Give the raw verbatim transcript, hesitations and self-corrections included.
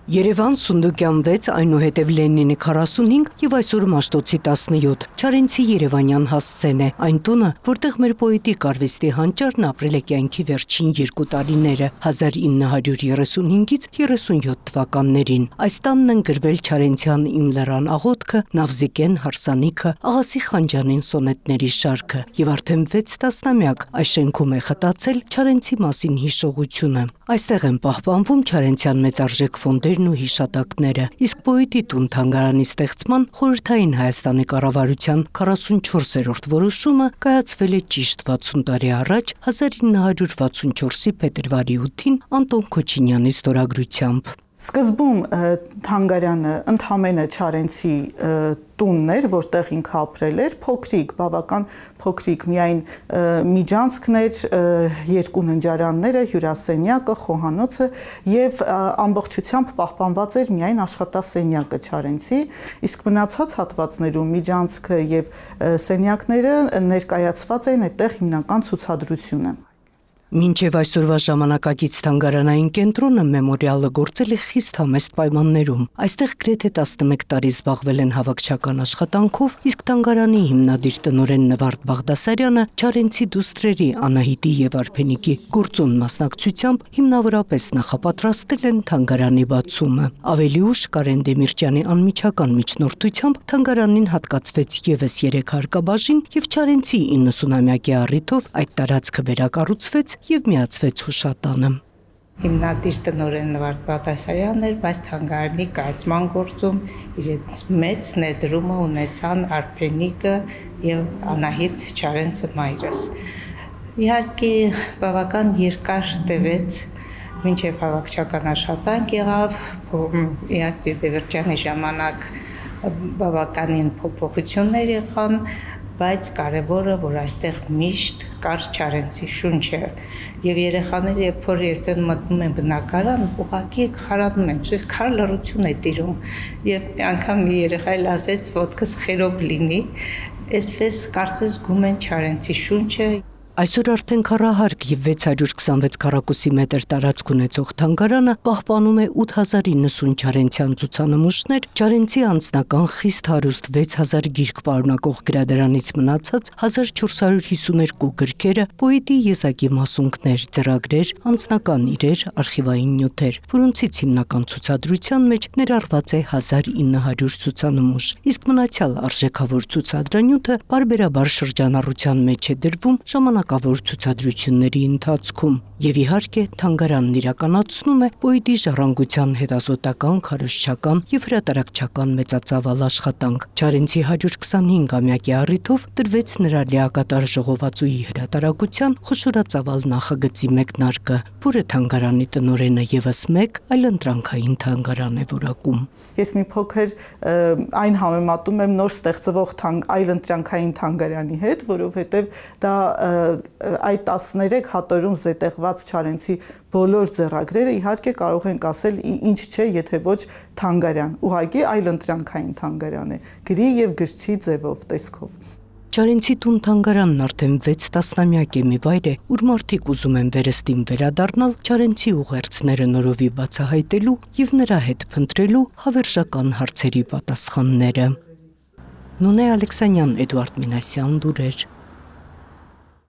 Երևան Սունդուկյան վեց, այնուհետև Լենինի քառասունհինգ եւ այսօր Մաշտոցի տասնյոթ, Չարենցի երևանյան հասցեն է, այն տունը, որտեղ մեր պոետի կարվեստի հանճարն ապրել է կյանքի վերջին երկու տարիները, հազար ինը հարյուր երեսունհինգից երեսունյոթ թվականներին։ Այս տանն են գրվել Չարենցյան Իմ լեռան աղոթքը, Նավզիկեն հարսանիքը, Աղասի Խանջանին սոնետների շարքը եւ արդեն վեց տասնամյակ այս շենքում է խտացել Չարենցի մասին հիշողությունը։ Այստեղ են պահպանվում Չարենցյան մեծարժեք ֆոնդերն ու հիշատակները, իսկ պոետի տուն թանգարանի ստեղծման խորհրդային Հայաստանի կառավարության քառասունչորսերորդ որոշումը կայացվել է ճիշտ վաթսուն տարի առաջ հազար ինը հարյուր վաթսունչորսի փետրվարի ութին Անտոն Քոչինյանի ստորագրությամբ։ Սկզբում թանգարանը ընդհանրապես Չարենցի տունն էր, որտեղ ինքը ապրել էր, փոքրիկ, բավական փոքրիկ, միայն միջանցքն էր, երկու ննջարանները, հյուրասենյակը, խոհանոցը եւ ամբողջությամբ պահպանված էր միայն աշխատասենյակը Չարենցի, իսկ մնացած հատվածներում միջանցքը եւ սենյակները ներկայացված են այդտեղ հիմնական ցուցադրությունը։ Մինչև այսօրվա ժամանակակից թանգարանային կենտրոնը մեմորիալը գործել է խիստ համեստ պայմաններում։ Այստեղ գրեթե տասնմեկ տարի զբաղվել են հավաքչական աշխատանքով, իսկ թանգարանի հիմնադիր տնօրեն Նվարդ Բաղդասարյանը Չարենցի դուստրերի Անահիտի եւ Արփենիկի գործուն մասնակցությամբ հիմնավորապես նախապատրաստել են թանգարանի բացումը։ Ավելի ուշ Կարեն Դեմիրճյանի անմիջական միջնորդությամբ թանգարանին հատկացվեց եւս երեք հարկաբաժին եւ Չարենցի իննսունամյակի առիթով այդ տարածքը վերակառուցվեց եւ միացվեց հուշատանը։ Հիմնադիր տնօրեն Նվարդ Բաղդասարյանն էր, բայց թանգարանի կայացման գործում իրենց մեծ ներդրումը ունեցան Արփենիկը եւ Անահիտ Չարենցը մայրս։ Իհարկե բավական երկար տևեց, մինչև հավաքչական աշխատանք եղավ, իհարկե Դևերճյանի ժամանակ բավականին փոփոխություններ եղան, բայց կարևորը, որ այստեղ միշտ կար Չարենցի շունչը եւ երեխաները երբ որ երբեմն մտնում են բնակարան, ուղղակի խարանում են, այսպես քար լռություն է տիրում եւ մի անգամ մի երեխա էլ ասեց ոտքս խերով լինի, այսպես կարծես զգում են Չարենցի շունչը։ Այսօր արդեն քառահարկ եւ վեց հարյուր քսանվեց քառակուսի մետր տարածք ունեցող թանգարանը պահպանում է ութ հազար իննսուն Չարենցյան ցուցանմուշներ, Չարենցի անձնական խիստ հարուստ վեց հազար գիրք պարունակող գրադարանից մնացած հազար չորս հարյուր հիսուներկու գրքերը, պոետի եզակի մասունքներ, ծրագրեր, անձնական իրեր, արխիվային նյութեր, որոնցից հիմնական ցուցադրության մեջ ներառված է հազար ինը հարյուր ցուցանմուշ, իսկ մնացյալ արժեքավոր ցուցադրանյութը բարբերաբար շրջանառության մեջ է դրվում ժամանակ կավոր ցուցադրությունների ընթացքում եւ իհարկե թանգարանն իրականացնում է պոետի ժառանգության հետազոտական, քարոզչական եւ հրատարակչական մեծածավալ աշխատանք։ Չարենցի հարյուր քսանհինգամյակի առիթով տրվեց նրա լիակատար ժողովածուի հրատարակության խոշորածավալ նախագծի մեկնարկը, որը թանգարանի տնօրենը եւս մեկ այլընտրանքային թանգարան է որակում։ Ես մի փոքր այն համեմատում եմ նոր ստեղծվող այլընտրանքային թանգարանի հետ, որովհետեւ դա այդ տասներեք հատորում զետեղված Չարենցի բոլոր ձեռագրերը իհարկե կարող ենք ասել ինչ չէ, եթե ոչ թանգարան, ուղղակի այլընտրանքային թանգարան է, գրի եւ գրչի ձևով, տեսքով։ Չարենցի տուն թանգարանն արդեն վեց տասնամյակ է մի վայր է, ուր մարդիկ ուզում են վերստին վերադառնալ Չարենցի ուղերձները նորովի բացահայտելու եւ նրա հետ փնտրելու հավերժական հարցերի պատասխանները։ Նունե Ալեքսանյան, Էդուարդ Մինասյան, լուրեր։